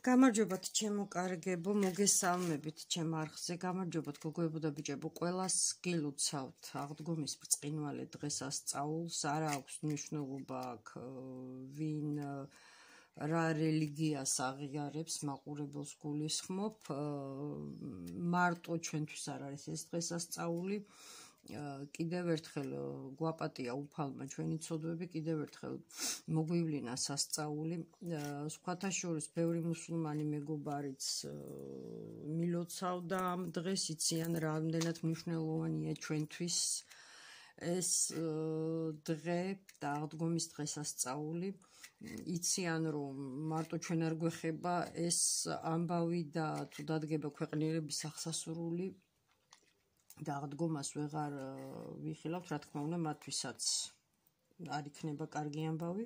გამარჯობათ ჩემო კარგებო, მოგესალმებით ჩემ არხზე, გამარჯობათ გოგოებო და ბიჭებო, ყველას გილოცავთ აღდგომის ბრწყინვალე დღესასწაულს, არა აქვს მნიშვნელობა აქ ვინ რა რელიგიას აღიარებს, მაყურებელს გულისხმობ, მარტო ჩვენთვის არ არის ეს დღესასწაული. კიდევ ერთხელ გვაპატია უფალმა ჩვენი ცოდვები, კიდევ ერთხელ მოგვივლინა სასწაული. სხვათა შორის ბევრი მუსულმანი მეგობარიც მილოცავდა ამ დღეს, იციან რამდენად მნიშვნელოვანია ჩვენთვის ეს დღე და აღდგომის დღესასწაული. იციან რომ მარტო ჩვენ არ გვეხება ეს ამბავი და თუ დადგება ქვეყნიერების აღსასრული და აღდგომას ვეღარ ვიხილავთ, რა თქმა უნდა, მათთვისაც არ იქნება კარგი ამბავი.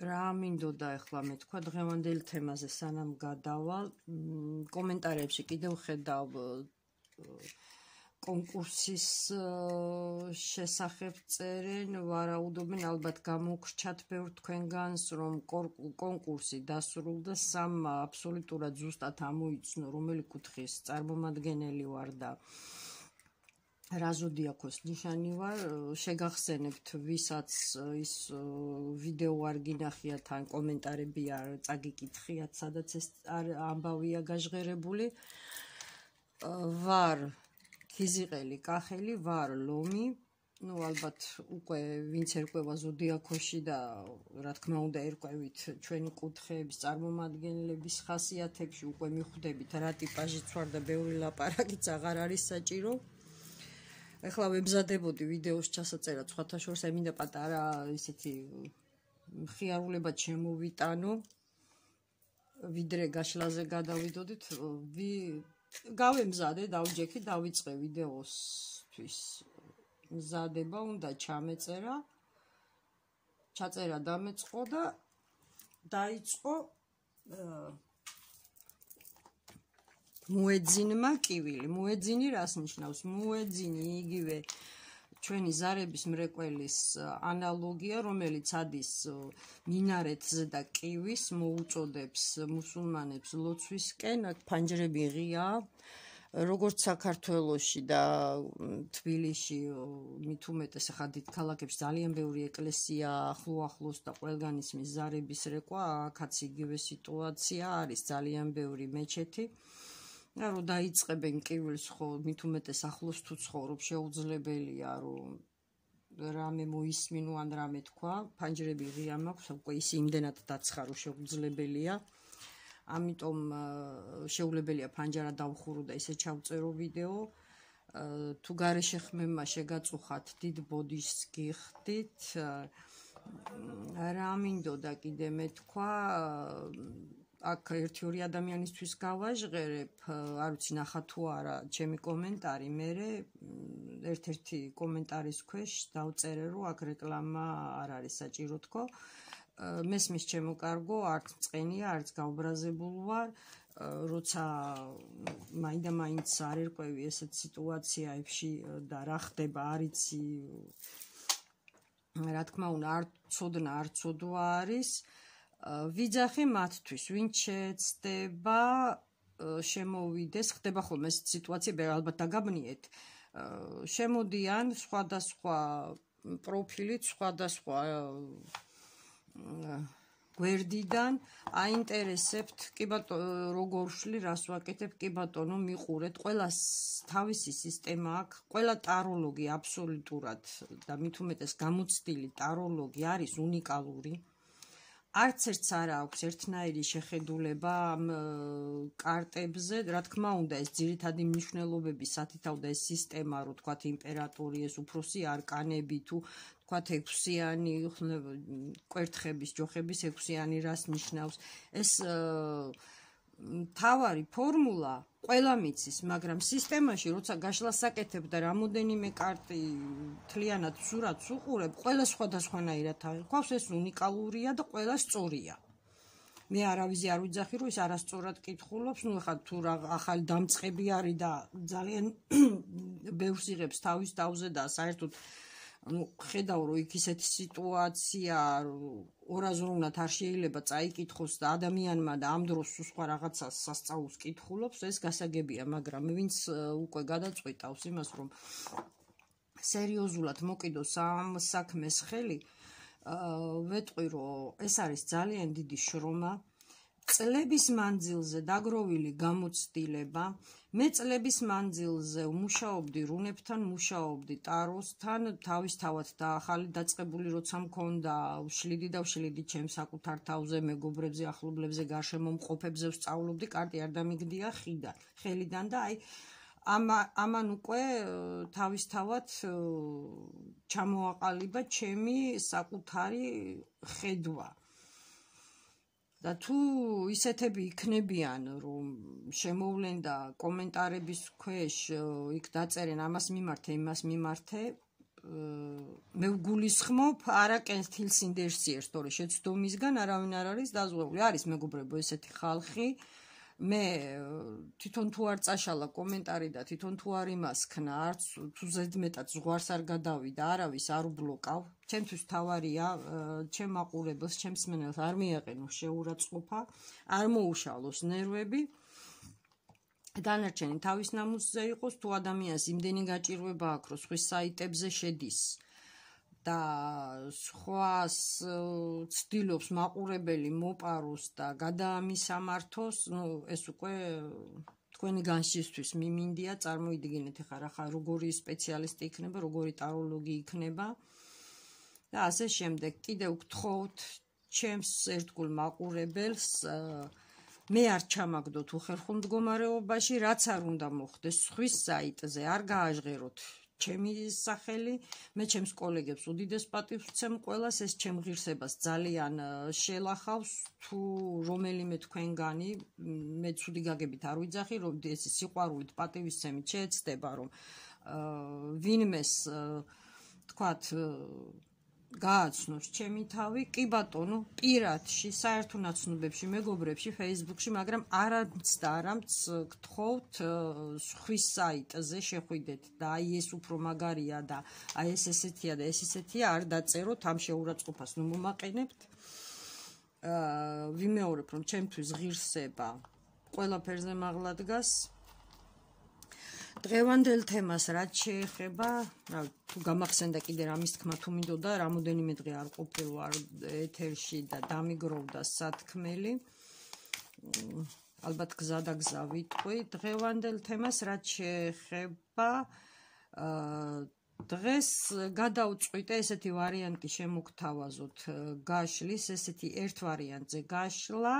რა მინდოდა ახლა მეთქვა დღევანდელ თემაზე სანამ გადავალ, კომენტარებში კიდევ ხედავ კონკურსის შესახებ წერენ, ვარაუდობენ, ალბათ გამოგრჩათ ბევრ თქვენგანს, რომ კონკურსი დასრულდა, სამ აბსოლუტურად ზუსტად ამოიცნო, რომელი კუთხის წარმომადგენელი ვარ და რა ზოდიაქოს ნიშანი ვარ. შეგახსენებთ, ვისაც ის ვიდეო არ გინახიათ ან კომენტარები არ წაგიკითხიათ, სადაც ეს ამბავია გაჟღერებული. ვარ ქიზიყელი კახელი, ვარ ლომი, ალბათ უკვე ვინც ერკვევა ზოდიაქოში და რა თქმა უნდა ერკვევით ჩვენი კუთხეების წარმომადგენლების ხასიათებში, უკვე მიხვდებით რა ტიპაჟიც ვარ და ბევრი ლაპარაკიც აღარ არის საჭირო. ეხლა ვემზადებოდი ვიდეოს ჩასაწერად, სხვათა შორის მინდა პატარა ისეთი მხიარულება შემოვიტანო, ვიდრე გაშლაზე გადავიდოდით, გავემზადე, დავჯექი, დავიწყე ვიდეოსთვის მზადება, უნდა ჩამეწერა, ჩაწერა დამეწყო და დაიწყო მოეძინმა კივილი. მოეძინი რას ნიშნავს? მოეძინი იგივე ჩვენი ზარების მრეყველის ანალოგია, რომელიც ადის მინარეთზე და კივის, მოუწოდებს მუსულმანებს ლოცვისკენ, ფანჯრები ღიაა. როგორც საქართველოში და თბილისში, მით უმეტეს ახლა დიდ ქალაქებში ძალიან ბევრი ეკლესია ახლოს და ყველგან ისმის ზარების რეკვა, აქაც იგივე სიტუაცია არის, ძალიან ბევრი მეჩეთი. რომ დაიწყებენ კივილს, ხო, მით უმეტეს ახლოს თუ ცხოვრობ, შეუძლებელია რომ რამე მოისმინო ან რამე თქვა, ფანჯრები ღია მაქვს, უკვე ის იმდენად დაცხა, რომ შეუძლებელია. ამიტომ შეუძლებელია ფანჯარა დავხურო და ისე ჩავწერო ვიდეო. თუ გარეშე ხმებმა შეგაწუხათ, დიდ ბოდიშს გიხდით. რა მინდოდა კიდე მეთქვა, აქ ერთი-ორი ადამიანისთვის გავაჟღერებ, არ ვიცი ნახა თუ არა ჩემი კომენტარი, მერე ერთ-ერთი კომენტარის ქვეშ დავწერე, რომ აქ რეკლამა არ არის საჭირო თქო. მესმის ჩემო კარგო, არც წყენია, არც გავბრაზებულ ვარ, როცა მაინდა-მაინც არ ერკვევი ესეთ სიტუაციებში და რა ხდება, არ იცი, რა თქმა უნდა, არ ცოდნა, არ ცოდვა არის. ვიძახი მათთვის, ვინც შეეცდება შემოვიდეს, ხდება ხოლმე ეს სიტუაციები, ალბათ დაგაბნიეთ, შემოდიან სხვადასხვა პროფილით, სხვადასხვა გვერდიდან, აინტერესებთ, კი ბატონო, როგორ ვშლი, რას ვაკეთებ, კი ბატონო, მიყურეთ, ყველას თავისი სისტემა აქვს, ყველა ტაროლოგი აბსოლუტურად და მით უმეტეს გამოცდილი ტაროლოგი არის უნიკალური. არც ერთს არ აქვს ერთნაირი შეხედულება ამ კარტებზე, რა თქმა უნდა, ეს ძირითადი მნიშვნელობები სათითაოდა ეს სისტემა, რო თქვათ იმპერატორი, ეს უფროსი არკანები თუ თქვათ ექვსიანი კვერთხების, ჯოხების ექვსიანი რას ნიშნავს. ეს თავარი ფორმულა ყველა მიცის, მაგრამ სისტემაში როცა გაშლას აკეთებ და რამოდენიმე კარტი თლიანად სურათს უყურებ, ყველა სხვადასხვანაირად აღიქვავს, ეს უნიკალურია და ყველა სწორია. მე არავის არ ვიძახი, რომ ის არასწორად კითხულობს, ნუ ხა თუ რა ახალი დამწყები არის და ძალიან ბევრს იღებს თავის თავზე და საერთოდ ხედავ, რომ იქ ისეთი სიტუაცია ორაზროვნად არ შეიძლება წაიკითხოს და ადამიანმა და ამ დროს სხვა რაღაცას სასწაულს კითხულობს, ეს გასაგებია, მაგრამ ვინც უკვე გადაწყვიტავს იმას, რომ სერიოზულად მოკიდოს ამ საქმეს ხელი, ვეტყვი, რომ ეს არის ძალიან დიდი შრომა, წლების მანძილზე დაგროვილი გამოცდილება. მე წლების მანძილზე მუშაობდი რუნებთან, მუშაობდი ტაროსთან, თავისთავად და ახალი დაწყებული როცა მქონდა, ვშლიდი ჩემს საკუთარ თავზე, მეგობრებზე, ახლობლებზე, გარშემომყოფებზე ვსწავლობდი, კარტი არ დამიგდია ხელიდან და აი ამან უკვე თავისთავად ჩამოაყალიბა ჩემი საკუთარი ხედვა. და თუ ისეთები იქნებიან, რომ შემოვლენ და კომენტარების ქვეშ იქ დაწერენ ამას მიმართე, იმას მიმართე, მე ვგულისხმობ არა კენთილსინდერსიერს, თორე შეცდომისგან არავინ არ არის დაზღვეული. არის მეგობრებო ესეთი ხალხი, მე თვითონ თუ არ წაშალა კომენტარი და თვითონ თუ არ იმასქნა, არც თუ ზედმეტად ზღვარს არ გადავიდა, არავის არ უბლოკავ. ჩემთვის თავარია, ჩემ მაყურებელს, ჩემს მსმენელს არ მიაყენოს შეურაცხყოფა, არ მოუშალოს ნერვები. დანარჩენი თავის ნამუსზე იყოს, თუ ადამიანს იმდენი გაჭირვება აქვს, რომ სხვის საიტებზე შედის და სხვას ცდილობს მაყურებელი მოპაროს და გადაამისამართოს, ეს უკვე თქვენი განშისთვის მიმინდია, წარმოიდგინეთ ახლა როგორი სპეციალისტი იქნება, როგორი ტაროლოგი იქნება და ასე შემდეგ. კიდევ გთხოვთ ჩემს ერთგულ მაყურებელს, მე არ ჩამაგდოთ უხერხულ მდგომარეობაში, რაც არ უნდა მოხდეს სხვის საიტზე, არ გააჟღეროთ ჩემი სახელი, მე ჩემს კოლეგებს უდიდეს პატივს ვცემ ყველას, ეს ჩემ ღირსებას ძალიან შელახავს, თუ რომელიმე თქვენგანი, მე ცუდი გაგებით არ ვიძახი, რომ ეს სიყვარულით პატივისცემით შეეცდება, რომ ვინმეს თქვათ გააცნოს ჩემი თავი, კი ბატონო, პირადში, საერთო ნაცნობებში, მეგობრებში, Facebook-ში, მაგრამ არამც გთხოვთ სხვის საიტზე შეხვიდეთ და აი ეს უფრო მაგარია და აი ეს ესეთია და ეს ისეთია, არ დაწეროთ, ამ შეურაცხყოფას ნუ მომაყენებთ. ვიმეორებ, რომ ჩემთვის ღირსება ყველაფერზე მაღლა დგას. დღევანდელ თემას რაც შეეხება, თუ გამახსენდა კიდე რამის თქმა თუ მინდოდა, რამოდენიმე დღე არ ყოფილვარ ეთერში და დამიგროვდა სათქმელი. ალბათ გზა და გზა ვიტყვი. დღევანდელ თემას რაც შეეხება, დღეს გადავწყვიტე ესეთი ვარიანტი შემოგთავაზოთ გაშლის, ესეთი ერთ ვარიანტზე გაშლა,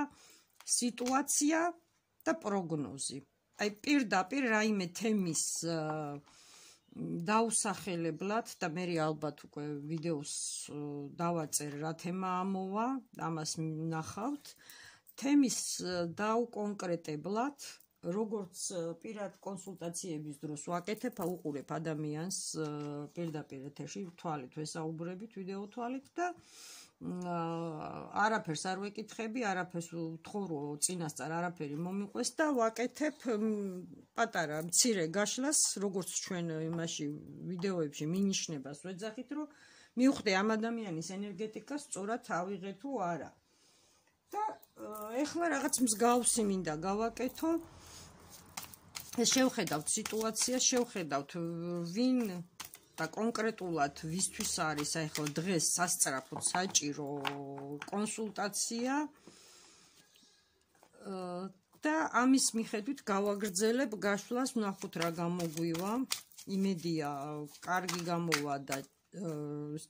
სიტუაცია და პროგნოზი. აი პირდაპირ რაიმე თემის დაუსახელებლად და მე ალბათ უკვე ვიდეოს დავაწერ რა თემა ამოვა, ამას ნახავთ. თემის დაუკონკრეტებლად, როგორც პირად კონსულტაციების დროს ვაკეთებ, უყურებ ადამიანს პირდაპირ ეთერში თვალით ვესაუბრებით, ვიდეო თვალით და არაფერს არ ვეკითხები, არაფერს ვთხოვ, რომ წინასწარ არაფერი მომიყვეს და ვაკეთებ პატარა მცირე გაშლას, როგორც ჩვენ იმაში ვიდეოებში მინიშნებას ვეძახით, რომ მივხვდე ამ ადამიანის ენერგეტიკას სწორად ავიღე თუ არა. და ეხლა რაღაც მსგავსი მინდა გავაკეთო. შევხედავთ სიტუაციას, შევხედავთ ვინ და კონკრეტულად ვისთვის არის ახლა დღეს სასწრაფოდ საჭირო კონსულტაცია და ამის მიხედვით გავაგრძელებ გაშლას, ვნახოთ რა გამოგვივა. იმედია კარგი გამოვა და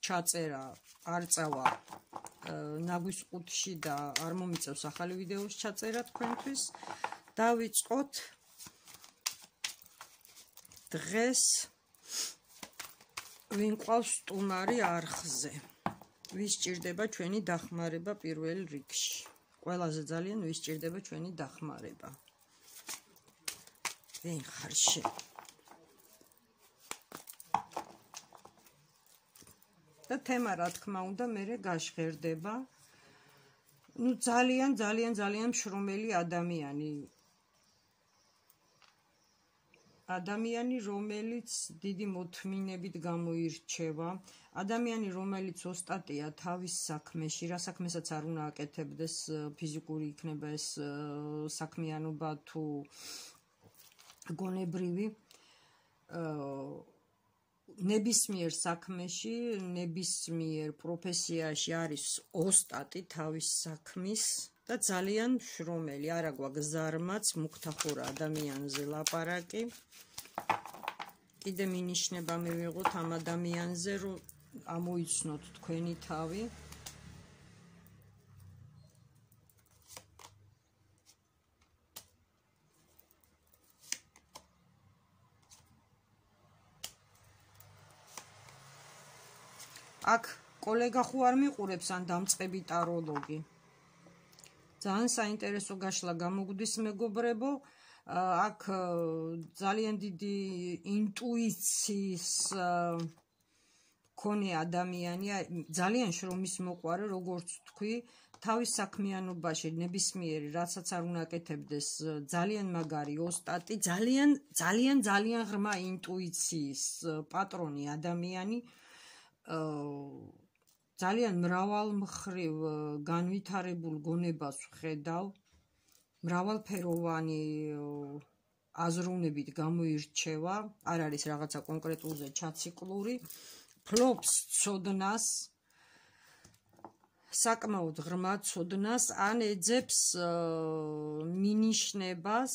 ჩაწერა არ წავა ნაგვის ყუთში და არ მომიწევს ახალი ვიდეოს ჩაწერა თქვენთვის. დავიწყოთ დღეს ვინ ყავს სტუმარი არხზე. ვის ჭირდება ჩვენი დახმარება პირველ რიგში. ყველაზე ძალიან ვის ჭირდება ჩვენი დახმარება. ვინ ხარ შენ? და თემა რა თქმა უნდა მერე გაშღერდება. ნუ ძალიან მშრომელი ადამიანი. ადამიანი, რომელიც დიდი მოთმინებით გამოირჩევა, ადამიანი, რომელიც ოსტატია თავის საქმეში, რა საქმესაც არ უნდა აკეთებდეს, ფიზიკური იქნება ეს საქმიანობა თუ გონებრივი, ნებისმიერ საქმეში, ნებისმიერ პროფესიაში არის ოსტატი თავის საქმის და ძალიან შრომელი, არა გვაქვს ზარმაც, მუქთახურა ადამიანზე ლაპარაკი. კიდე მინიშნება მივიღოთ ამ ადამიანზე, რომ ამოიცნოთ თქვენი თავი. აქ კოლეგა ხო არ მიყურებს ან დამწყები ტაროლოგი. ძალიან საინტერესო გაშლა გამოგვდის მეგობრებო. აქ ძალიან დიდი ინტუიციის მქონე ადამიანია, ძალიან შრომის მოყვარე, როგორც თქვი, თავის საქმიანობაში ნებისმიერი რაცაც არ უნდა აკეთებდეს, ძალიან მაგარი ოსტატი, ძალიან ღრმა ინტუიციის პატრონი ადამიანი. ძალიან მრავალმხრივ განვითარებულ გონებას ვხედავ, მრავალფეროვანი აზროვნებით გამოირჩევა, არ არის რაღაცა კონკრეტულზე ჩაციკლური, ფლობს ცოდნას, საკმაოდ ღრმა ცოდნას, ან ეძებს მინიშნებას,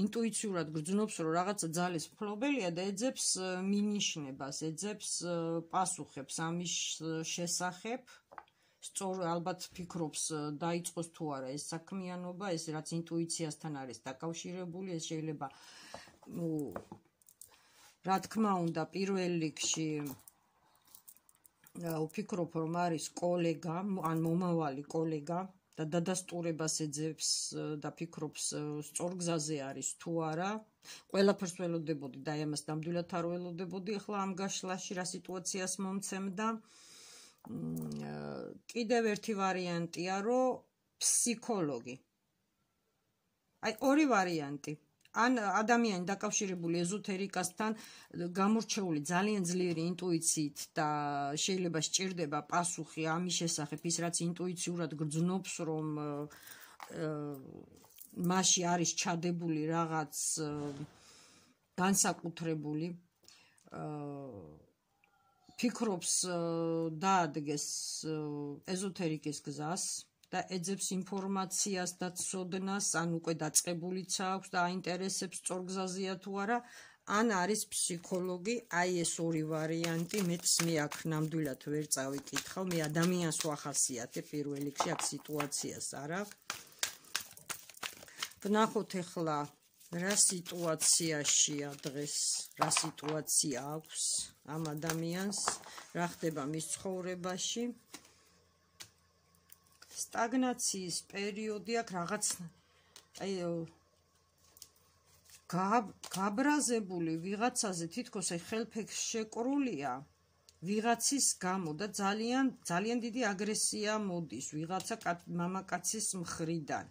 ინტუიციურად გრძნობს, რომ რაღაცა ძალის მფლობელია და ეძებს მინიშნებას, ეძებს პასუხებს ამის შესახებ. სწორ ალბათ ფიქრობს დაიწყოს თუ არა ეს საქმიანობა, ეს რაც ინტუიციასთან არის დაკავშირებული, ეს შეიძლება რა თქმა უნდა პირველ რიგში ვფიქრობ, რომ არის კოლეგა, ან მომავალი კოლეგა და დადასტურებას ეძებს და ფიქრობს სწორ გზაზე არის თუ არა. ყველაფერს ველოდებოდი და ამას ნამდვილად არ ველოდებოდი. ახლა ამ გაშლაში რა სიტუაციას მომცემდა. კიდევ ერთი ვარიანტია, რომ ფსიქოლოგი. აი ორი ვარიანტი. ან ადამიანი დაკავშირებული ეზოთერიკასთან, გამორჩეული ძალიან ძლიერი ინტუიციით და შეიძლება სჭირდება პასუხი ამის შესახებ, ის რაც ინტუიციურად გრძნობს, რომ მასში არის ჩადებული რაღაც განსაკუთრებული, ფიქრობს დაადგეს ეზოთერიკის გზას და ეძებს ინფორმაციას და ცოდნას, ან უკვე დაწყებულიც აქვს და აინტერესებს სწორ გზაზეა თუ არა, ან არის ფსიქოლოგი. აი ეს ორი ვარიანტი, მეც მე აქ ნამდვილად ვერ წავიკითხავ, მე ადამიანს ვახასიათებ პირველ რიგში, აქ სიტუაციას არა. ვნახოთ ახლა რა სიტუაციაშია დღეს, რა სიტუაცია აქვს ამ ადამიანს, რა ხდება მის ცხოვრებაში. სტაგნაციის პერიოდი აქვს, რაღაც აი გაბრაზებული ვიღაცაზე, თითქოს აი ხელფექს შეკრულია ვიღაცის გამო და ძალიან დიდი აგრესია მოდის ვიღაცა მამაკაცის მხრიდან.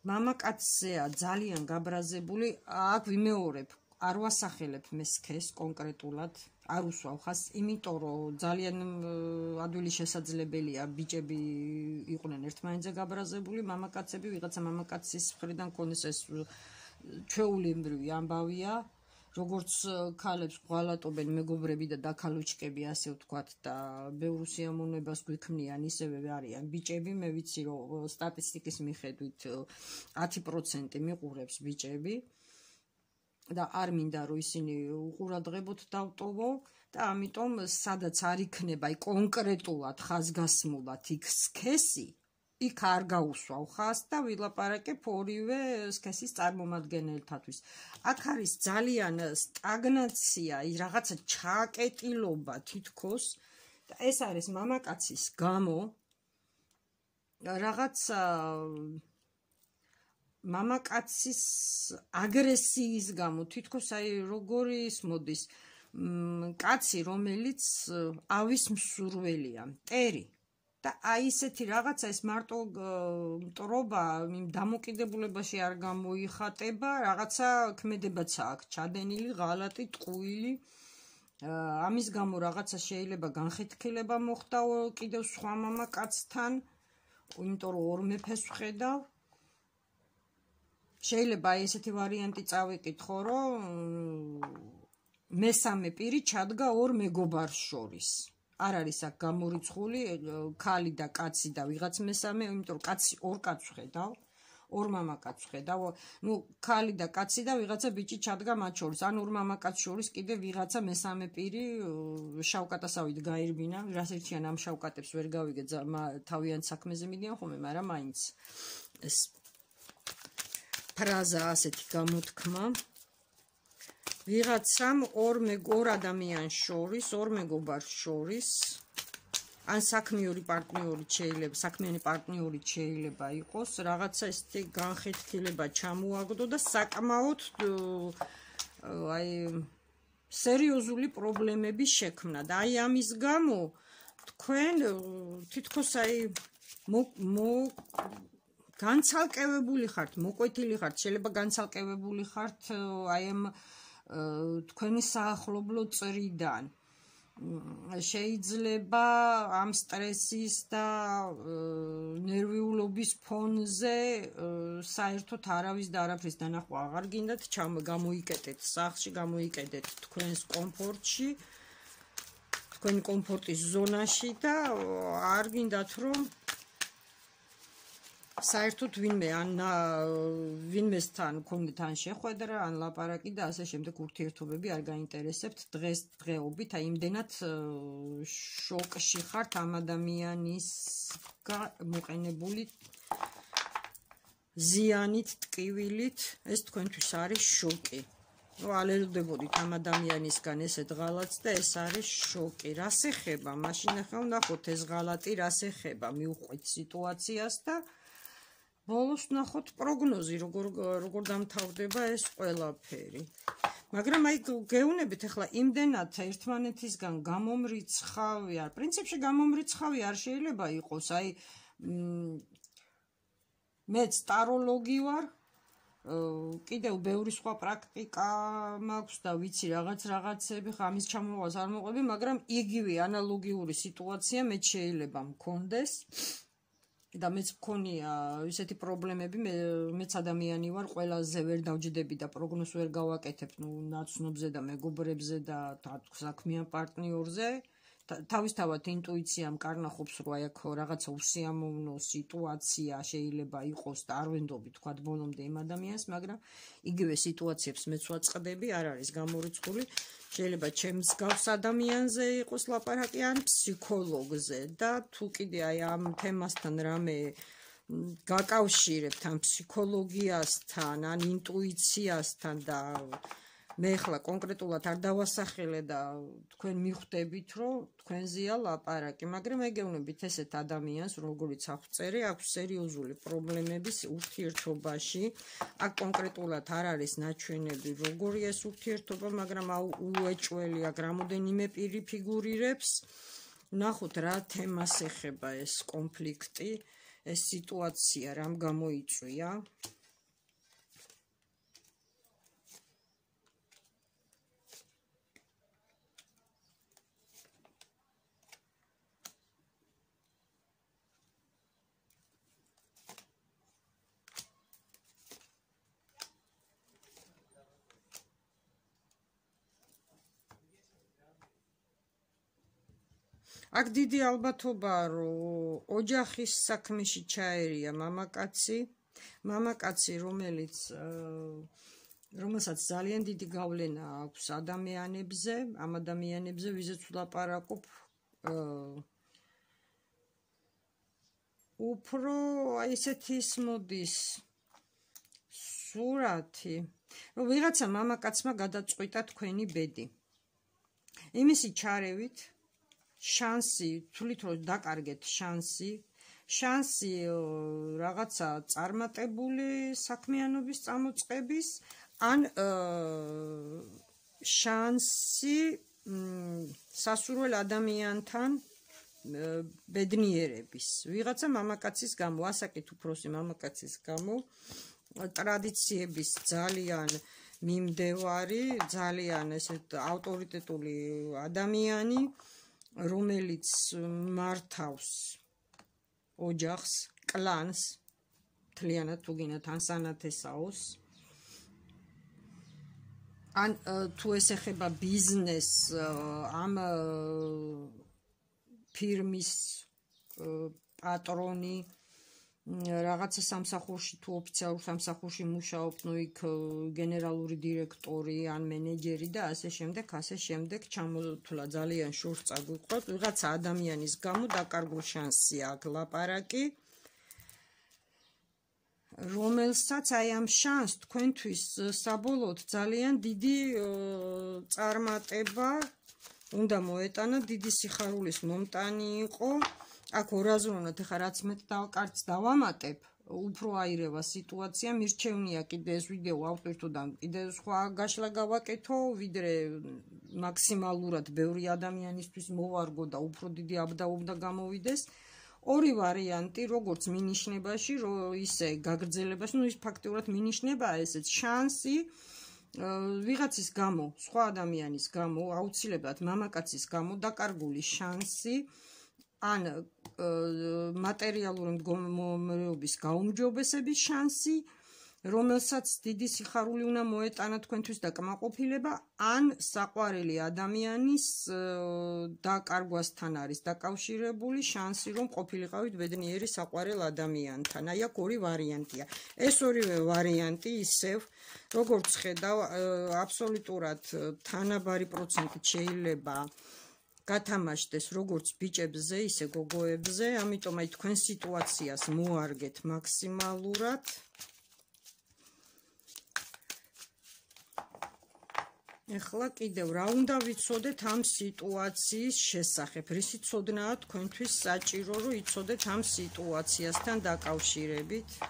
მამაკაცზეა ძალიან გაბრაზებული, აქ ვიმეორებ, არ ვასახელებ მე სქეს კონკრეტულად, არ უსვავ ხას, იმიტომ რომ ძალიან ადვილი შესაძლებელია ბიჭები იყვნენ ერთმანეთზე გაბრაზებული, მამაკაცები ვიღაცა მამაკაცის მხრიდან ქონდეს ეს ჩვეულებრივი ამბავია, როგორც ქალებს ღვალატობენ მეგობრები და დაქალუჩკები, ასე ვთქვათ, და ბევრ სიამოვნებას გვიქმნიან, ისევე არიან ბიჭები. მე ვიცი, რომ სტატისტიკის მიხედვით 10% მიყურებს ბიჭები და არ მინდა რომ ისინი უყურადღებოთ დავტოვო და ამიტომ სადაც არ იქნება კონკრეტულად ხაზგასმულად იქ სქესი, იქ არ გაუსვავ ხას და ვილაპარაკებ ორივე სქესის წარმომადგენელთათვის. აქ არის ძალიან სტაგნაცია, რაღაცა ჩაკეტილობა თითქოს და ეს არის მამაკაცის გამო, რაღაცა მამაკაცის აგრესიის გამო, თითქოს აი როგორი ის მოდის, კაცი, რომელიც ავის მსურველია, მტერი. და აი ესეთი რაღაცა ეს მარტო მტრობა იმ დამოკიდებულებაში არ გამოიხატება, რაღაცა ქმედებაც აქვს ჩადენილი, ღალატი, ტყუილი. ამის გამო რაღაცა შეიძლება განხეთქილება მოხდა კიდევ სხვა მამაკაცთან, იმიტომ რომ ორ მეფეს ვხედავ. შეიძლება აი ესეთი ვარიანტი წავიკითხო, რომ მესამე პირი ჩადგა ორ მეგობარს შორის. არ არის აქ გამორიცხული ქალი და კაცი და ვიღაც მესამე, იმიტომ რომ კაცი ორ კაცს ვხედავ, ორ მამაკაცს ვხედავ. ნუ ქალი და კაცი და ვიღაცა ბიჭი ჩადგა მათ შორის. ან ორ მამაკაცს შორის კიდე ვიღაცა მესამე პირი შავკატასავით გაირბინა. რას ერთიან ამ შავკატებს ვერ გავიგე, თავიანთ საქმეზე მიდიან ხოლმე, მაგრამ მაინც ეს ფრაზა ასეთი გამოთქმა. ვიღაცამ ორ ადამიანს შორის, ორ მეგობარს შორის, ან საქმიანი პარტნიორი შეიძლება იყოს, რაღაცა ესეთი განხეთქილება ჩამოაგდო და საკმაოდ აი სერიოზული პრობლემები შექმნა და აი ამის გამო თქვენ თითქოს აი განცალკევებული ხართ, მოკვეთილი ხართ, შეიძლება განცალკევებული ხართ აი ამ თქვენი საახლობლო წრიდან. შეიძლება ამ სტრესის და ნერვიულობის ფონზე საერთოდ არავის და არაფრის დანახვა აღარ გინდათ, გამოიკეტეთ სახლში, გამოიკეტეთ თქვენს კომფორტში, თქვენი კომფორტის ზონაში და არ გინდათ რომ საერთოდ ვინმესთან გქონდეთ ან შეხვედრა, ან ლაპარაკი და ასე შემდეგ ურთიერთობები არ გაინტერესებთ დღესდღეობით, აი იმდენად შოკში ხართ ამ ადამიანის მოყენებული ზიანით, ტკივილით, ეს თქვენთვის არის შოკი. ალერდებოდით ამ ადამიანისგან ესეთ ღალატს და ეს არის შოკი. რას ეხება? მაშინ ახლა ვნახოთ ეს ღალატი რას ეხება, მიუყვეთ სიტუაციას და ბოლოს ვნახოთ პროგნოზი, როგორ დამთავრდება ეს ყველაფერი. მაგრამ აი გეუნებით ახლა იმდენად ერთმანეთისგან გამომრიცხავი არ, პრინციპში გამომრიცხავი არ შეიძლება იყოს, აი მეც ტაროლოგი ვარ, კიდევ ბევრი სხვა პრაქტიკა მაქვს და ვიცი რაღაცები, ამის ჩამოყალიბებას არ მოყვები, მაგრამ იგივე ანალოგიური სიტუაცია მეც შეიძლება მქონდეს. და მეც მქონია ისეთი პრობლემები, მეც ადამიანი ვარ, ყველაზე ვერ დავჯდები და პროგნოზს ვერ გავაკეთებ, ნაცნობზე და მეგობრებზე და საქმიან პარტნიორზე. თავისთავად ინტუიციამ კარნახობს, რომ აი აქ რაღაცა უსიამოვნო სიტუაცია შეიძლება იყოს და არ ვენდობი თქვა ბოლომდე იმ ადამიანს, მაგრამ იგივე სიტუაციებს მეც ვაწყდები, არ არის გამორიცხული. შეიძლება ჩემს გავს ადამიანზე იყოს ლაპარაკი ან ფსიქოლოგზე და თუ კიდე აი ამ თემასთან რამე გაკავშირებთ ამ ფსიქოლოგიასთან, ან ინტუიციასთან და მე ახლა კონკრეტულად არ დავასახელე და თქვენ მიხვდებით, რომ თქვენზეა ლაპარაკი, მაგრამ ეგეუნებით ესეთ ადამიანს, როგორც აღწერე, აქვს სერიოზული პრობლემები ურთიერთობაში. აქ კონკრეტულად არ არის ნაჩვენები, როგორია ეს ურთიერთობა, მაგრამ უეჭველი აქ რამოდენიმე პირი ფიგურირებს. ვნახოთ რა თემას ეხება ეს კონფლიქტი, ეს სიტუაცია რამ გამოიწვია. აქ დიდი ალბათობაა, რომ ოჯახის საქმეში ჩაერია მამაკაცი, რომელსაც ძალიან დიდი გავლენა აქვს ადამიანებზე, ამ ადამიანებზე, ვიზეც ვლაპარაკობ, უფრო აი ესეთი ის მოდის სურათი, რომ ვიღაცა მამაკაცმა გადაწყვიტა თქვენი ბედი. იმისი ჩარევით შანსი, თვლით რომ დაკარგეთ შანსი რაღაცა წარმატებული საქმიანობის წამოწყების, ან შანსი სასურველ ადამიანთან ბედნიერების ვიღაცა მამაკაცის გამო ასაკით უფროსი მამაკაცის გამო ტრადიციების ძალიან მიმდევარი ძალიან ესეთ ავტორიტეტული ადამიანი რომელიც მართავს ოჯახს კლანს მთლიანად თუ გინდათ ან სანათესაოს ან თუ ეს ეხება ბიზნესს ამ ფირმის პატრონი რაღაცა სამსახურში თუ ოფიციალურ სამსახურში მუშაობს, ნუ იქ გენერალური დირექტორი ან მენეჯერი და ასე შემდეგ ჩამოთვლა ძალიან შორს წაგვიყვოთ ვიღაცა ადამიანის გამო დაკარგულ შანსია აქ ლაპარაკი რომელსაც აი ამ შანსს თქვენთვის საბოლოოდ ძალიან დიდი წარმატება უნდა მოეტანა დიდი სიხარულის მომტანი იყო აქ ორაზროვნად ეხა რაც მე კარგს დავამატებ უფრო აირევა სიტუაცია მირჩევნია კიდე ეს ვიდეო ავტვირთო და კიდე სხვა გაშლა გავაკეთო ვიდრე მაქსიმალურად ბევრი ადამიანისთვის მოვარგო და უფრო დიდი აბდაუბდა გამოვიდეს ორი ვარიანტი როგორც მინიშნებაში ისე გაგრძელებაში ნუ ის ფაქტიურად მინიშნებაა ესეც შანსი ვიღაცის გამო სხვა ადამიანის გამო აუცილებლად მამაკაცის გამო დაკარგული შანსი ან მატერიალური მდგომარეობის გაუმჯობესების შანსი რომელსაც დიდი სიხარული უნდა მოეტანა თქვენთვის და კმაყოფილება ან საყვარელი ადამიანის დაკარგვასთან არის დაკავშირებული შანსი რომ ყოფილიყავით ბედნიერი საყვარელ ადამიანთან აი აქ ორი ვარიანტია ეს ორივე ვარიანტი ისევ როგორც ხედავ აბსოლუტურად თანაბარი პროცენტით შეიძლება გათამაშდეს როგორც ბიჭებზე ისე გოგოებზე ამიტომ აი თქვენ სიტუაციას მოარგეთ მაქსიმალურად ეხლა კიდევ რა უნდა ვიცოდეთ ამ სიტუაციის შესახებ რისი ცოდნაა თქვენთვის საჭირო რომ იცოდეთ ამ სიტუაციასთან დაკავშირებით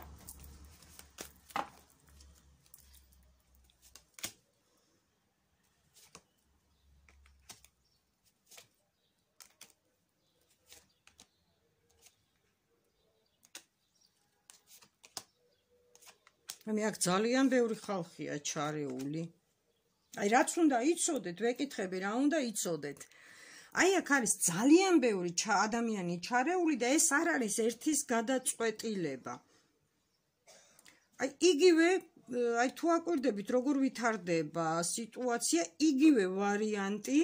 მე აქ ძალიან ბევრი ხალხია ჩარეული აი რაც უნდა იცოდეთ ვეკითხები რა უნდა იცოდეთ აი აქ არის ძალიან ბევრი ადამიანი ჩარეული და ეს არ არის ერთის გადაწყვეტილება აი იგივე აი თუ აკვირდებით როგორ ვითარდება სიტუაცია იგივე ვარიანტი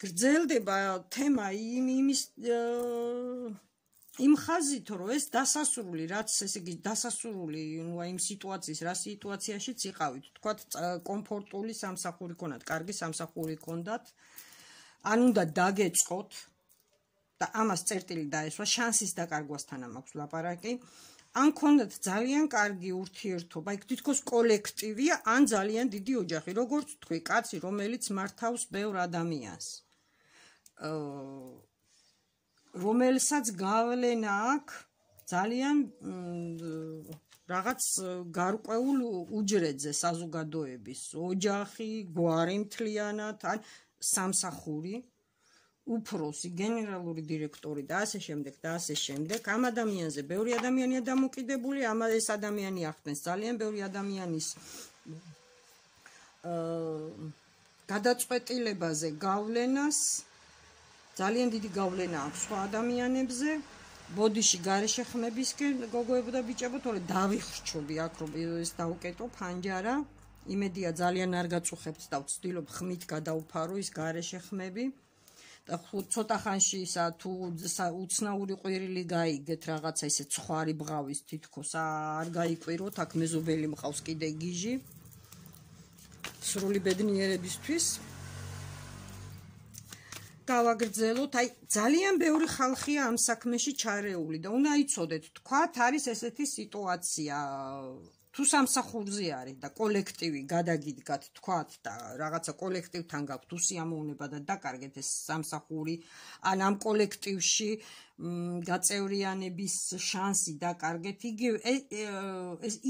გრძელდება თემა იმის იმ ხაზით რომ ეს დასასრული რაც ესე იგი დასასრული ნუ აი იმ სიტუაციის რა სიტუაციაშიც იყავით თქვათ კომფორტული სამსახური ქონათ კარგი სამსახური ქონდათ ან უნდა დაგეწყოთ და ამას წერტილი დაესვა შანსის დაკარგვასთან მაქვს ლაპარაკი ან ქონდათ ძალიან კარგი ურთიერთობა იქ თითქოს კოლექტივია ან ძალიან დიდი ოჯახი როგორც თქვი კაცი რომელიც მართავს ბევრ ადამიანს რომელსაც გავლენა აქვს ძალიან რაღაც გარკვეულ უჯრედზე საზოგადოების ოჯახი, გვარი მთლიანად, ან სამსახური, უფროსი, გენერალური დირექტორი და ასე შემდეგ. ამ ადამიანზე ბევრი ადამიანია დამოკიდებული, ეს ადამიანი ახდენს ძალიან ბევრი ადამიანის გადაწყვეტილებაზე გავლენას ძალიან დიდი გავლენა აქვს სხვა ადამიანებზე ბოდიში გარეშე ხმებისკენ გოგოებო და ბიჭებო თორე დავიხრჩობი აქ რომ ეს დავკეტო ფანჯარა იმედია ძალიან არ გაწუხებთ და ვცდილობ ხმით გადაუფარო ის გარეშე ხმები და ცოტა ხანში ისა თუ უცნაური ყვირილი გაიგეთ რაღაცა ისე ცხარი ბღავის თითქოს არ გაიკვიროთ აქ მეზობელი მყავს კიდე გიჟი სრული ბედნიერებისთვის გავაგრძელოთ, აი ძალიან ბევრი ხალხია ამ საქმეში ჩარეული და უნდა იცოდეთ, თქვათ არის ესეთი სიტუაცია, თუ სამსახურზე არის და კოლექტივი გადაგიდგათ, თქვათ და რაღაცა კოლექტივთან გაქვთ უსიამოვნება და დაკარგეთ ეს სამსახური, ან ამ კოლექტივში გაწევრიანების შანსი დაკარგეთ, იგივე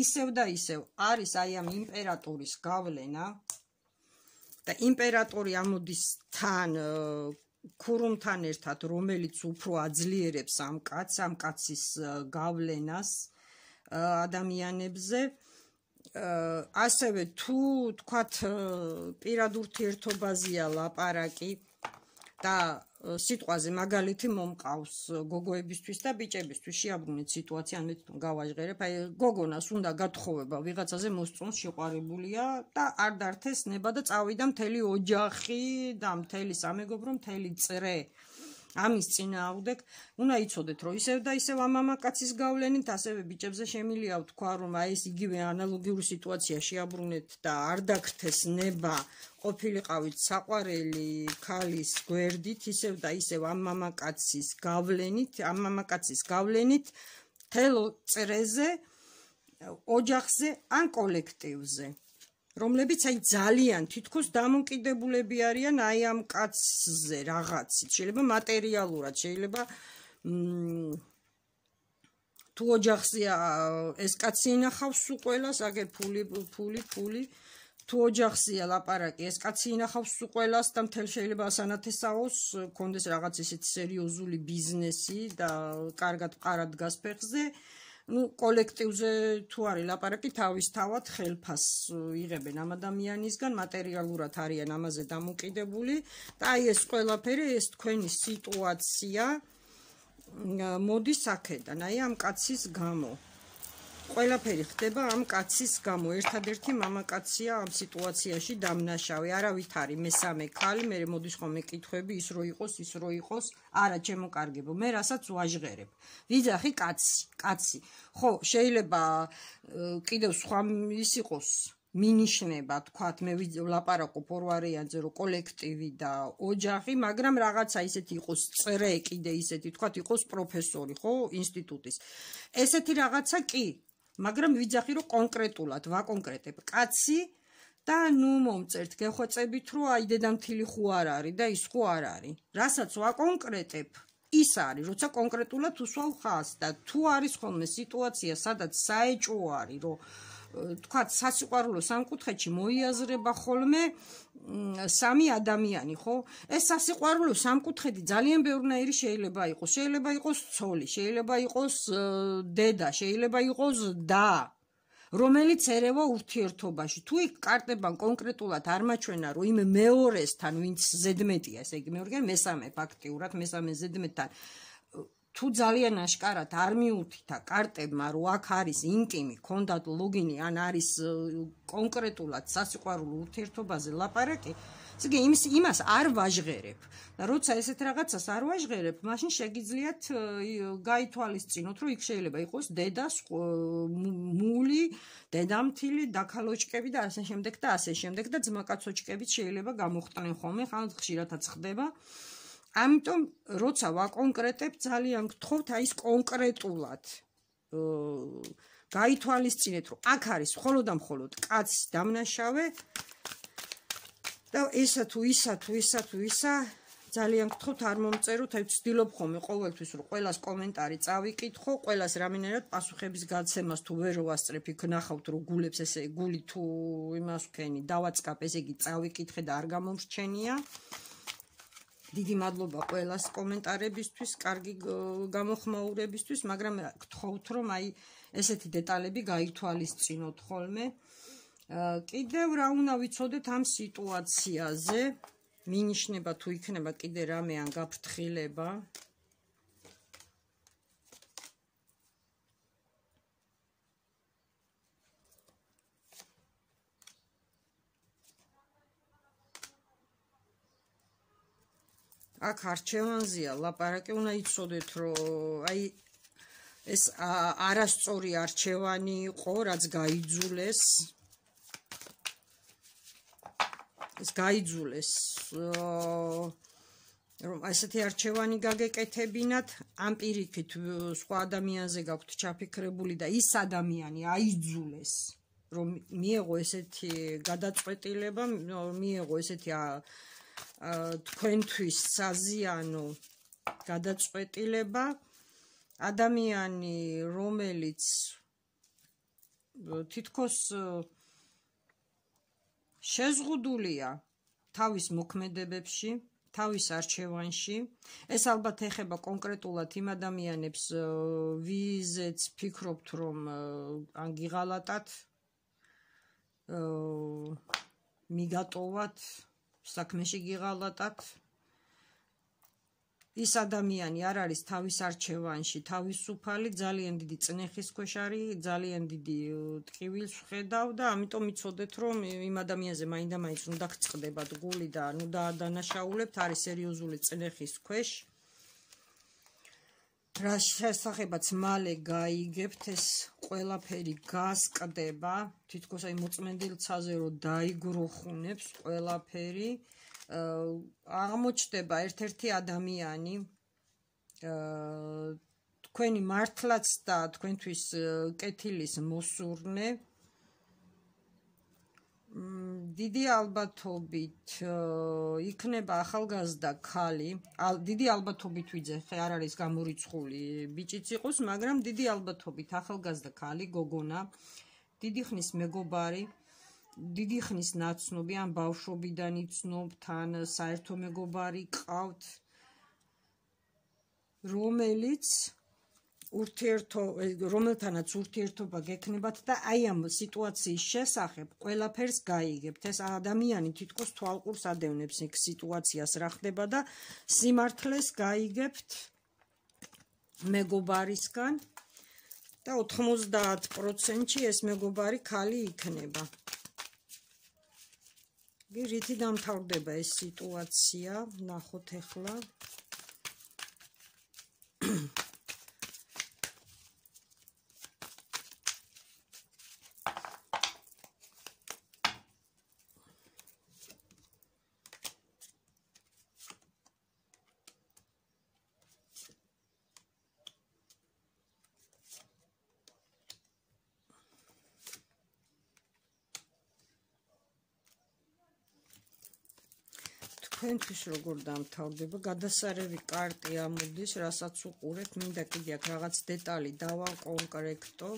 ისევ და ისევ არის აი ამ იმპერატორის გავლენა და იმპერატორი ამოდის თან ქურუმთან ერთად, რომელიც უფრო აძლიერებს ამ კაცის გავლენას ადამიანებზე. ასევე თუ თქვათ პირად ურთიერთობაზეა ლაპარაკი და სიტყვაზე მაგალითი მომყავს გოგოებისთვის და ბიჭებისთვის შეაბრუნეთ სიტუაცია, ან მე თვითონ გავაჟღერებ, აი გოგონას უნდა გათხოვება ვიღაცაზე მოსწონს შეყვარებულია და არ დართეს ნება და წავიდა მთელი ოჯახი და მთელი სამეგობრო, მთელი წრე ამის წინააღმდეგ, უნდა იცოდეთ, რომ ისევ და ისევ ამ მამაკაცის გავლენით ასევე ბიჭებზე შემილია ვთქვა, რომ აი ეს იგივე ანალოგიური სიტუაცია შეაბრუნეთ და არ დაგრთეს ნება ყოფილიყავით საყვარელი ქალის გვერდით, ისევ და ისევ ამ მამაკაცის გავლენით თელ წრეზე, ოჯახზე ან კოლექტივზე, რომლებიც აი ძალიან თითქოს დამოკიდებულები არიან აი ამ კაცზე რაღაცით, შეიძლება მატერიალურად, შეიძლება თუ ოჯახზეა ეს კაცი ინახავს უყველას, აგერ ფული, თუ ოჯახზეა ლაპარაკი, ეს კაცი ინახავს უყველას და მთელ შეიძლება ასანათესაოს, კონდეს რაღაც ისეთი სერიოზული ბიზნესი და კარგად ყარად დგას ფეხზე. კოლექტივზე თუ არის ლაპარაკი, თავისთავად ხელფას იღებენ ამ ადამიანისგან, მატერიალურად არიან ამაზე დამოკიდებული და აი ეს ყველაფერი, ეს თქვენი სიტუაცია მოდის აქედან, აი ამ კაცის გამო. ყველაფერი ხდება ამ კაცის გამო. ერთადერთი მამაკაცია ამ სიტუაციაში დამნაშავე. არავით არის მესამე ქალი, მე მოდის ხოლმე კითხვები, ის რო იყოს, არა ჩემო კარგებო, მე რასაც ვაჟღერებ. ვიძახი კაცი. ხო, შეიძლება კიდევ სხვა ის იყოს მინიშნება, თქვათ, მე ვლაპარაკობ ორ ვარიანტზე, რომ კოლექტივი და ოჯახი, მაგრამ რაღაცა ისეთი იყოს წრე, კიდე ისეთი, თქვათ, იყოს პროფესორი, ხო, ინსტიტუტის. ესეთი რაღაცა კი, მაგრამ ვიძახი, რომ კონკრეტულად ვაკონკრეტებ კაცი და ნუ მომწერთ გეხვეწებით, რომ აი დედამთილი ხო არ არის და ის ხო არ არის. რასაც ვაკონკრეტებ, ის არის, როცა კონკრეტულად უსვავ ხაზს და თუ არის ხოლმე სიტუაცია, სადაც საეჭვო არის, რომ თქვათ, სასიყვარულო სამკუთხედში მოიაზრება ხოლმე სამი ადამიანი, ხო? ეს სასიყვარულო სამკუთხედი ძალიან ბევრნაირი შეიძლება იყოს. შეიძლება იყოს ცოლი, შეიძლება იყოს დედა, შეიძლება იყოს და, რომელიც ერევა ურთიერთობაში. თუ იქ კარტებან კონკრეტულად არ მაჩვენა, რომ იმ მეორესთან, ვინც ზედმეტია, ესე იგი მეორე, მესამე ფაქტიურად, მესამე ზედმეტთან თუ ძალიან აშკარად არ მიუთითა კარტებმა, რომ აქ არის ინტიმი, ქონდათ ლოგინი, ან არის კონკრეტულად სასიყვარულო ურთიერთობაზე ლაპარაკი, ესე იგი იმას არ ვაჟღერებ. და როცა ესეთ რაღაცას არ ვაჟღერებ, მაშინ შეგიძლიათ გაითვალისწინოთ, რომ იქ შეიძლება იყოს დედას მული, დედამთილი, დაქალოჭკები და ასე შემდეგ და ასე შემდეგ და ძმაკაცოჭკებიც შეიძლება გამოხტნენ ხოლმე, ხან ხშირადაც ხდება. ამიტომ როცა ვაკონკრეტებ, ძალიან გთხოვთ აი ეს კონკრეტულად გაითვალისწინეთ, რომ აქ არის მხოლოდ და მხოლოდ კაცის დამნაშავე და ისა თუ ისა ძალიან გთხოვთ არ მომწეროთ, აი ვცდილობ ხოლმე ყოველთვის რომ ყველას კომენტარი წავიკითხო, ყველას რამენერად პასუხების გაცემას თუ ვერ ვასწრებ, იქ ნახავთ რომ გულებს ესე გული თუ იმას ვქენი დავაწყap, ესე იგი წავიკითხე და არ გამომრჩენია. დიდი მადლობა ყველას კომენტარებისთვის, კარგი გამოხმაურებისთვის, მაგრამ გთხოვთ რომ აი ესეთი დეტალები გაითვალისწინოთ ხოლმე. კიდევ რა უნდა ვიცოდეთ ამ სიტუაციაზე, მინიშნება თუ იქნება კიდე რამე ან გაფრთხილება. აქ არჩევანზეა ლაპარაკი, უნდა იცოდეთ, რომ აი ეს არასწორი არჩევანი იყო, რაც გაიძულეს. ეს გაიძულეს, რომ ესეთი არჩევანი გაგეკეთებინათ, ამ პირიქით სხვა ადამიანზე გაქვთ ჩაფიქრებული და ის ადამიანი აიძულეს, რომ მიეღო ესეთი გადაწყვეტილება, მიეღო ესეთი თქვენთვის საზიანო გადაწყვეტილება, ადამიანი, რომელიც თითქოს შეზღუდულია თავის მოქმედებებში, თავის არჩევანში. ეს ალბათ ეხება კონკრეტულად იმ ადამიანებს, ვიზეც ფიქრობთ, რომ ან გიღალატათ, მიგატოვათ, საქმეში გიღალატათ. ის ადამიანი არ არის თავის არჩევანში თავისუფალი, ძალიან დიდი წნეხის ქვეშ არის, ძალიან დიდი ტკივილს ხედავ და ამიტომ იცოდეთ, რომ იმ ადამიანზე მაინდა-მაინც უნდა გწყდებათ გული და ნუ დაადანაშაულებთ, არის სერიოზული წნეხის ქვეშ. რა შესახებაც მალე გაიგებთ, ეს ყველაფერი გასკდება, თითქოს აი მოწმენდილცაზე რომ დაიგროხუნებს ყველაფერი. აღმოჩნდება ერთ-ერთი ადამიანი, თქვენი მართლაც და თქვენთვის კეთილის მოსურნე, დიდი ალბათობით იქნება ახალგაზრდა ქალი, დიდი ალბათობით ვიძე, არ არის გამორიცხული ბიჭიც იყოს, მაგრამ დიდი ალბათობით ახალგაზრდა ქალი, გოგონა, დიდი ხნის მეგობარი, დიდი ხნის ნაცნობი, ან ბავშვობიდან იცნობთ, ან საერთო მეგობარი ყავთ, რომელთანაც ურთიერთობა გექნებათ და აი ამ სიტუაციის შესახებ ყველაფერს გაიგებთ. ეს ადამიანი თითქოს თვალყურს ადევნებს იქ სიტუაციას რა ხდება და სიმართლეს გაიგებთ მეგობარისგან და 90%-ში ეს მეგობარი ქალი იქნება. რითი დამთავრდება ეს სიტუაცია, ნახოთ ახლა. თქვენთვის როგორ დამთავრდება, გადასარევი კარტი ამოდის, რასაც უყურებთ, მინდა კიდე აქ რაღაც დეტალი დავაკონკრექტო.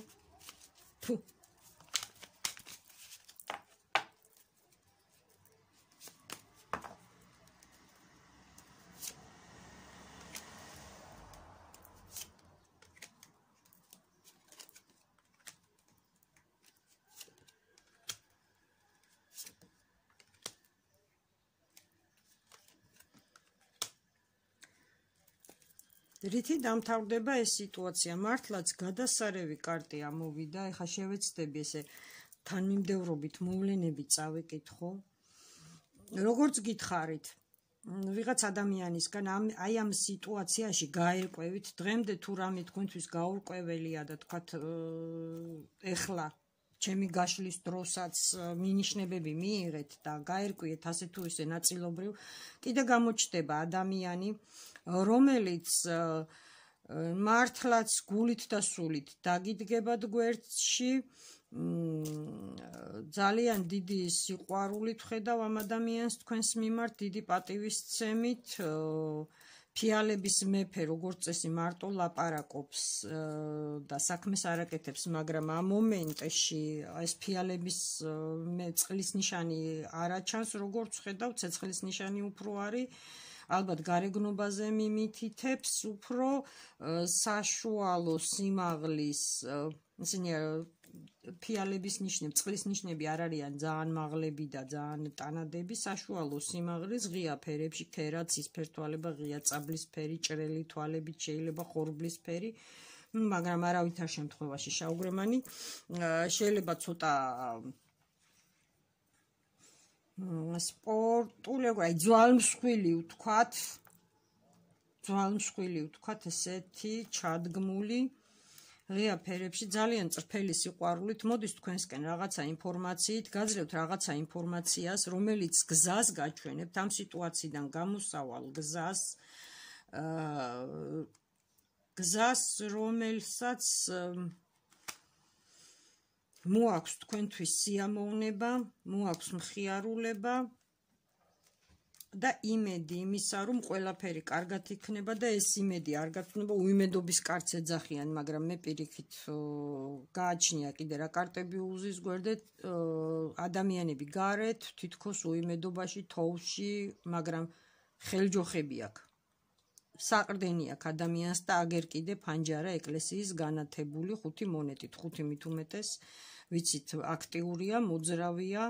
რითი დამთავრდება ეს სიტუაცია? მართლაც გადასარევი კარტი ამოვიდა, ეხლა შევეცდები ესე თანმიმდევრობით მოვლენები წავიკითხო. როგორც გითხარით, ვიღაც ადამიანისგან აი ამ სიტუაციაში გაერკვევით, დღემდე თუ რამე თქვენთვის გაურკვეველია და თქვათ ეხლა ჩემი გაშლის დროსაც მინიშნებები მიიღეთ და გაერკვიეთ ასე თუ ისე ნაწილობრივ, კიდე გამოჩნდება ადამიანი, რომელიც მართლაც გულით და სულით დაგიდგებათ გვერდში, ძალიან დიდი სიყვარულით ხედავ ამ ადამიანს თქვენს მიმართ, დიდი პატივისცემით, ფიალების მეფე როგორც წესი მარტო ლაპარაკობს და საქმეს არ აკეთებს, მაგრამ ამ მომენტში ეს ფიალების წყლის ნიშანი არ აჩანს, როგორც ხედავ, ცეცხლის ნიშანი უფრო არის. ალბათ გარეგნობაზე მიმითითებს უფრო საშუალო სიმაღლის, ისინი ფიალების ნიშნები, წყლის ნიშნები არ არიან ძალიან მაღლები და ძალიან ტანადები, საშუალო სიმაღლის, ღია ფერებში, ქერა, ცისფერ თვალება, ღია წაბლის ფერი, ჭრელი თვალებით, შეიძლება ხორბლის ფერი, მაგრამ არავითარ შემთხვევაში შავგრემანი, შეიძლება ცოტა სპორტული, აი ძვალმსხვილი ვთქვათ, ესეთი ჩადგმული, ღია ფერებში, ძალიან წრფელი სიყვარულით მოდის თქვენსკენ რაღაცა ინფორმაციით, გაძლევთ რაღაცა ინფორმაციას, რომელიც გზას გაჩვენებთ, ამ სიტუაციიდან გამოსავალ გზას, რომელსაც მოაქვს თქვენთვის სიამოვნება, მოაქვს მხიარულება და იმედი იმისა, რომ ყველაფერი კარგად იქნება და ეს იმედი არ გაცნობა, უიმედობის კარტს ეძახიან, მაგრამ მე პირიქით გააჩნია კიდე რა კარტები უზის გვერდეთ, ადამიანები გარეთ, თითქოს უიმედობაში, თოვლში, მაგრამ ხელჯოხები აქვს. საყრდენი აქვს ადამიანს და აგერ კიდე ფანჯარა ეკლესიის განათებული 5 მონეტით, 5 მით უმეტეს, ვიცით, აქტიურია, მოძრავია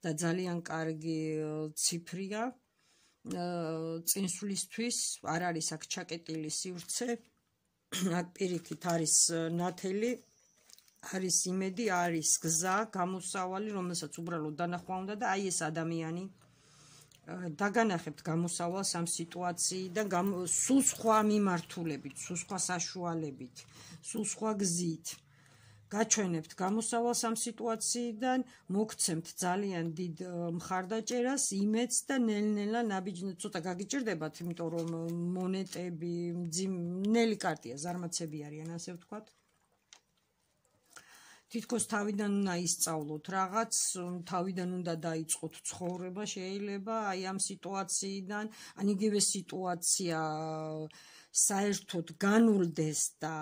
და ძალიან კარგი ციფრია. წინსვლისთვის არ არის აქ ჩაკეტილი სივრცე. აქ პირიქით არის ნათელი, არის იმედი, არის გზა, გამოსავალი, რომელსაც უბრალოდ დანახვა უნდა და აი ეს ადამიანი დაგანახებთ გამოსავალს ამ სიტუაციიდან, სულ სხვა მიმართულებით, სულ სხვა საშუალებით, სულ სხვა გზით. გაჩვენებთ გამოსავალს ამ სიტუაციიდან, მოგცემთ ძალიან დიდ მხარდაჭერას, იმედს და ნელ-ნელა ნაბიჯნად ცოტა გაგიჭირდებათ, იმიტომ რომ მონეტები, ნელი კარტია, ზარმაცები არიან, ასე ვთქვათ. თითქოს თავიდან უნდა ისწავლოთ რაღაც, თავიდან უნდა დაიწყოთ ცხოვრება, შეიძლება აი ამ სიტუაციიდან, ან იგივე სიტუაცია საერთოდ განულდეს და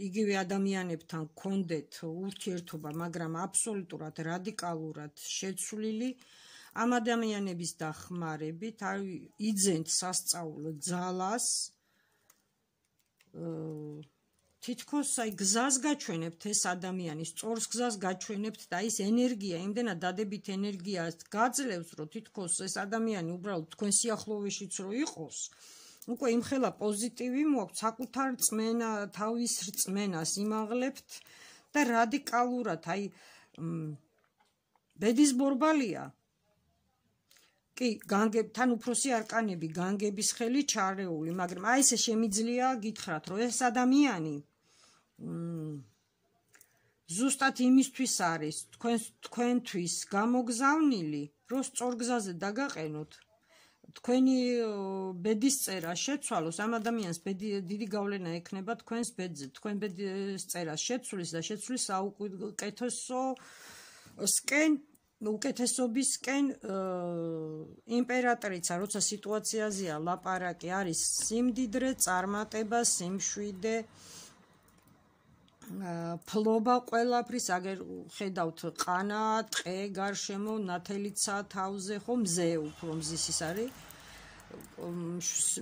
იგივე ადამიანებთან გქონდეთ ურთიერთობა, მაგრამ აბსოლუტურად რადიკალურად შეცვლილი, ამ ადამიანების დახმარებით იძენთ სასწავლო ძალას, თითქოს აი გზას გაჩვენებთ ეს ადამიანის, სწორს გზას გაჩვენებთ და ის ენერგია, იმდენად დადებით ენერგიას გაძლევს, რომ თითქოს ეს ადამიანი უბრალოდ თქვენ სიახლოვეშიც რო იყოს, უკვე იმხელა პოზიტივი მოაქვს, საკუთარ რწმენა, თავის რწმენას იმაღლებთ და რადიკალურად, აი ბედის ბორბალია. კი, განგებთან უფროსი არკანები, განგების ხელი ჩარეული, მაგრამ აი ესე შემიძლია გითხრათ, რომ ეს ადამიანი ზუსტად იმისთვის არის თქვენთვის გამოგზავნილი, რომ სწორ გზაზე დაგაყენოთ, თქვენი ბედის წერა შეცვალოს, ამ ადამიანს დიდი გავლენა ექნება თქვენს ბედზე, თქვენ ბედის წერას შეცვლის და შეცვლის უკეთესობისკენ იმპერატრიცა, როცა სიტუაციაზეა ლაპარაკი, არის სიმდიდრე, წარმატება, სიმშვიდე, ფლობა ყველაფრის, აგერ ხედავთ ყანა, ტყე, გარშემო, ნათელიცა თავზე, ხო, მზე უფრო მზის ის არის,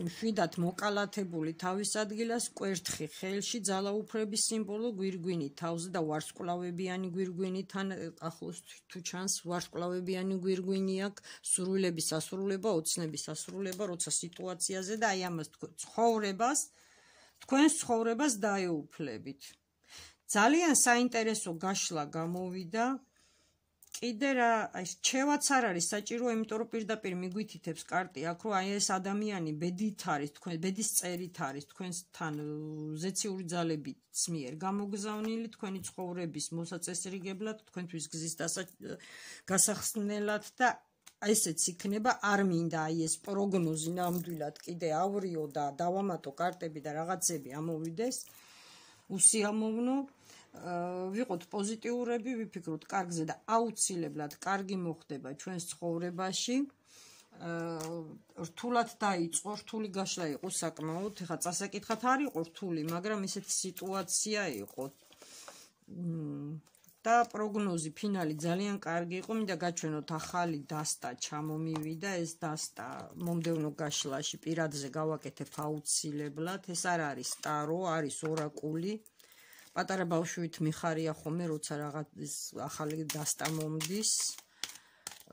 მშვიდად მოკალათებული თავის ადგილას, კვერთხი ხელში, ძალაუფლების სიმბოლო გვირგვინი თავზე და ვარსკვლავებიანი გვირგვინი, თან ახლოს თუ ჩანს ვარსკვლავებიანი გვირგვინი აქვს, სურვილების ასრულება, ოცნების ასრულება, როცა სიტუაციაზე და აი ამას თქვენს ცხოვრებას დაეუფლებით. ძალიან საინტერესო გაშლა გამოვიდა. კიდე რა, აი რჩევაც არ არის საჭირო, იმიტომ რომ პირდაპირ მიგვითითებს კარტი აქ, რომ აი ეს ადამიანი ბედით არის, თქვენ ბედის წერით არის, თქვენთან ზეციური ძალების მიერ გამოგზავნილი, თქვენი ცხოვრების მოსაწესრიგებლად, თქვენთვის გზის გასახსნელად და ესეც იქნება, არ მინდა აი ეს პროგნოზი ნამდვილად კიდე ავრიო და დავამატო კარტები და რაღაცები ამოვიდეს. უსიამოვნო, ვიყოთ პოზიტიურები, ვიფიქროთ კარგზე და აუცილებლად კარგი მოხდება ჩვენს ცხოვრებაში. რთულად დაიწყო, რთული გაშლა იყო საკმაოდ, ეხლა წასაკითხად არ იყო რთული, მაგრამ ესეთი სიტუაცია იყო. და პროგნოზი ფინალი ძალიან კარგი იყო, მინდა გაჩვენოთ ახალი დასტა ჩამომივიდა, ეს დასტა მომდევნო გაშლაში პირადზე გავაკეთებ აუცილებლად, ეს არ არის ტარო, არის ორაკული. პატარა ბავშვით მიხარია ხოლმე, როცა რაღაც ახალი დასტა მომდის.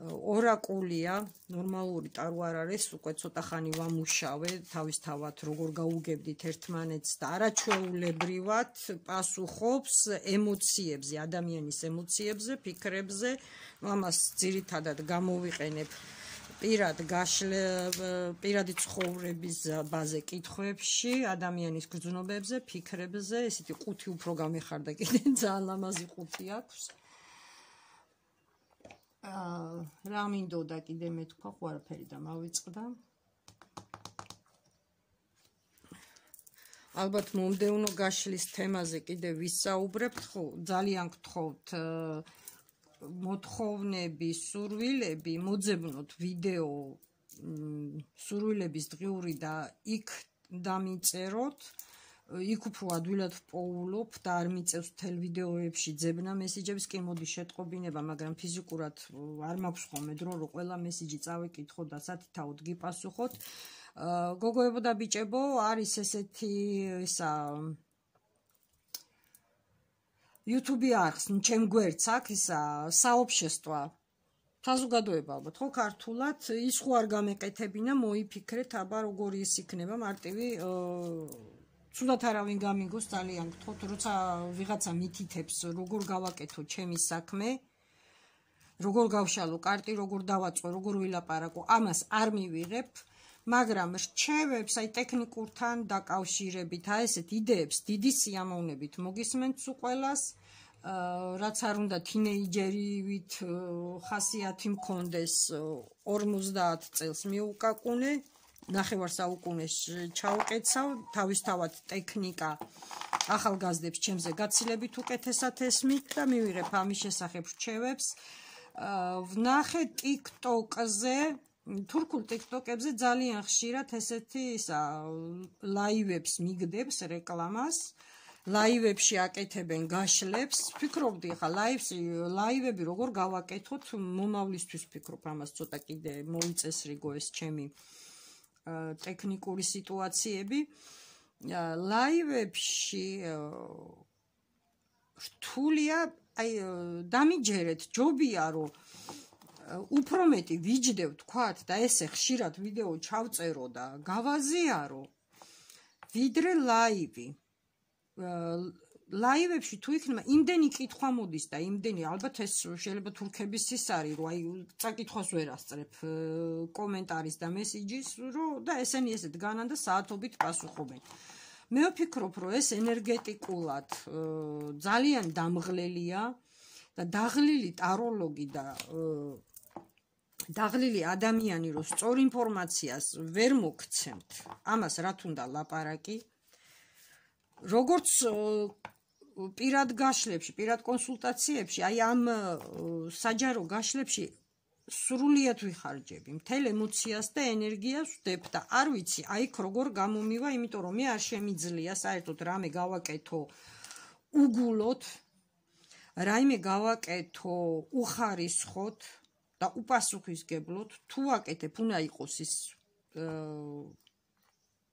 ორაკულია, ნორმალური ტარო არ არის, უკვე ცოტა ხანი ვამუშავე, თავისთავად როგორ გაუგებდით ერთმანეთს და არაჩვეულებრივად პასუხობს ემოციებზე, ადამიანის ემოციებზე, ფიქრებზე, ამას ძირითადად გამოვიყენებ პირადი ცხოვრების ბაზე კითხვებში, ადამიანის გრძნობებზე, ფიქრებზე, ესეთი ყუთი უფრო გამეხარდა კიდე, ძალიან ლამაზი ყუთი აქვს. რა მინდოდა კიდე მე თქვა, ხო არაფერი და მავიწყდა. ალბათ მომდევნო გაშლის თემაზე კიდე ვისაუბრებთ, ხო, ძალიან გთხოვთ მოთხოვნები, სურვილები, მოძებნოთ ვიდეო სურვილების დღიური და იქ დამიწეროთ, იქ უფრო ადვილად ვპოულობ და არ მიწევს მთელ ვიდეოებში ძებნა მესიჯებს, კი მოდი შეტყობინება, მაგრამ ფიზიკურად არ მაქვს ხოლმე დრო, რომ ყველა მესიჯი წავიკითხო და სათითაოდ გიპასუხოთ. გოგოებო და ბიჭებო, არის ესეთი ისა YouTube არხს, ჩემ გვერდს აქ ისა საობშესტვა საზოგადოება ალბათ ხო ქართულად, ის ხო არ გამეკეთებინა, მოიფიქრეთ, აბა როგორი ის იქნება მარტივი ცუდად არავინ გამიგოს, ძალიან გთხოვთ, როცა ვიღაცა მითითებს, როგორ გავაკეთო ჩემი საქმე, როგორ გავშალო კარტი, როგორ დავაწყო, როგორ ვილაპარაკო, ამას არ მივიღებ, მაგრამ რჩევებს, აი ტექნიკურთან დაკავშირებით, აი ესეთ იდეებს დიდი სიამოვნებით მოგისმენთ უყველას, რაც არ უნდა თინეიჯერივით ხასიათი მქონდეს 50 წელს მიუკაკუნე, ნახევარ საუკუნეს ჩაუკეცავ, თავისთავად ტექნიკა ახალგაზრდებს ჩემზე გაცილებით უკეთესად ესმით და მივიღებ ამის შესახებ რჩევებს. ვნახე TikTok-ზე, თურქულ TikTok-ებზე ძალიან ხშირად ესეთი ლაივებს მიგდებს რეკლამას. ლაივებში აკეთებენ გაშლებს. ვფიქრობდი ხა ლაივები როგორ გავაკეთოთ, მომავლისთვის ვფიქრობ, ამას ცოტა კიდე მოიწესრიგო ეს ჩემი ტექნიკური სიტუაციები. ლაივებში რთულია, აი დამიჯერეთ, ჯობია რომ უფრო მეტი ვიჯდევ თქვათ და ესე ხშირად ვიდეო ჩავწერო და გავაზიარო, ვიდრე ლაივი. ლაივებში თუ იქნება იმდენი კითხვა მოდის და იმდენი, ალბათ ეს შეიძლება თურქების ის არის, რომ აი წაკითხვას ვერ ასწრებ კომენტარის და მესიჯის, რომ და ესენი ესე დგანან და საათობით პასუხობენ. მე ვფიქრობ, რომ ეს ენერგეტიკულად ძალიან დამღლელია და დაღლილი ტაროლოგი და დაღლილი ადამიანი, რომ სწორ ინფორმაციას ვერ მოგცემთ, ამას რა თუნდა ლაპარაკი. როგორც პირად გაშლებში, პირად კონსულტაციებში, აი ამ საჯარო გაშლებში სრულიად ვიხარჯები, მთელ ემოციას და ენერგიას ვდებ და არ ვიცი, აი იქ როგორ გამომივა, იმიტომ რომ მე არ შემიძლია საერთოდ რამე გავაკეთო უგულოდ, რაიმე გავაკეთო უხარისხოთ და უპასუხისგებლოდ, თუ აკეთებ, უნდა იყოს ის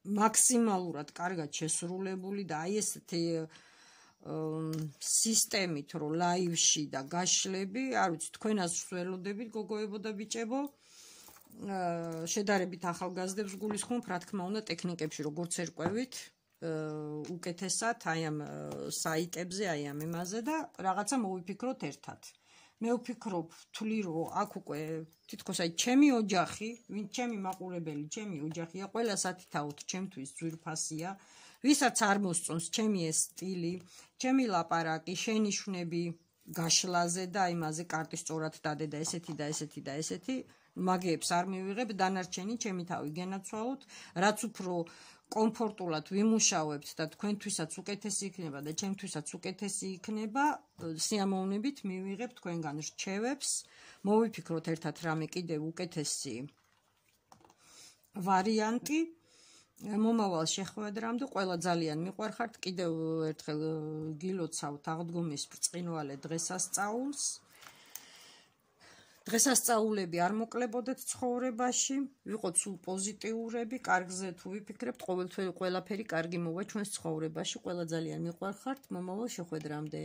მაქსიმალურად კარგად შესრულებული და აი ესეთი სისტემით, რომ ლაივში და გაშლები, არ ვიცი, თქვენას ველოდებით, გოგოებო და ბიჭებო, შედარებით ახალგაზრდებს გულისხმობ, რა თქმა უნდა, ტექნიკებში როგორც ერკვევით, უკეთესად, აი ამ საიტებზე, აი ამ იმაზე და რაღაცა მოვიფიქროთ ერთად. მე ვფიქრობ, ვთვლი, რომ აქ უკვე თითქოს აი ჩემი ოჯახი, ვინ ჩემი მაყურებელი, ჩემი ოჯახია, ყველა სათითაოდ ჩემთვის ძვირფასია, ვისაც არ მოსწონს ჩემი ეს სტილი, ჩემი ლაპარაკი, შენიშვნები გაშლაზე და იმაზე კარტი სწორად დადე და ესეთი და ესეთი და ესეთი, მაგეებს არ მივიღებ, დანარჩენი ჩემი თავი გენაცვალოთ, რაც უფრო კომფორტულად ვიმუშავებთ და თქვენთვისაც უკეთესი იქნება და ჩემთვისაც უკეთესი იქნება, სიამოვნებით მივიღებ თქვენგან რჩევებს, მოვიფიქროთ ერთად რამე კიდევ უკეთესი ვარიანტი. მომავალ შეხვედრამდე ყველა ძალიან მიყვარხართ, კიდევ ერთხელ გილოცავთ აღდგომის ბრწყინვალე დღესასწაულს. დღესასწაულები არ მოკლებოდეთ ცხოვრებაში, ვიყოთ სულ პოზიტიურები, კარგზე თუ ვიფიქრებთ, ყოველთვის ყველაფერი კარგი მოვა ჩვენს ცხოვრებაში, ყველა ძალიან მიყვარხართ, მომავალ შეხვედრამდე.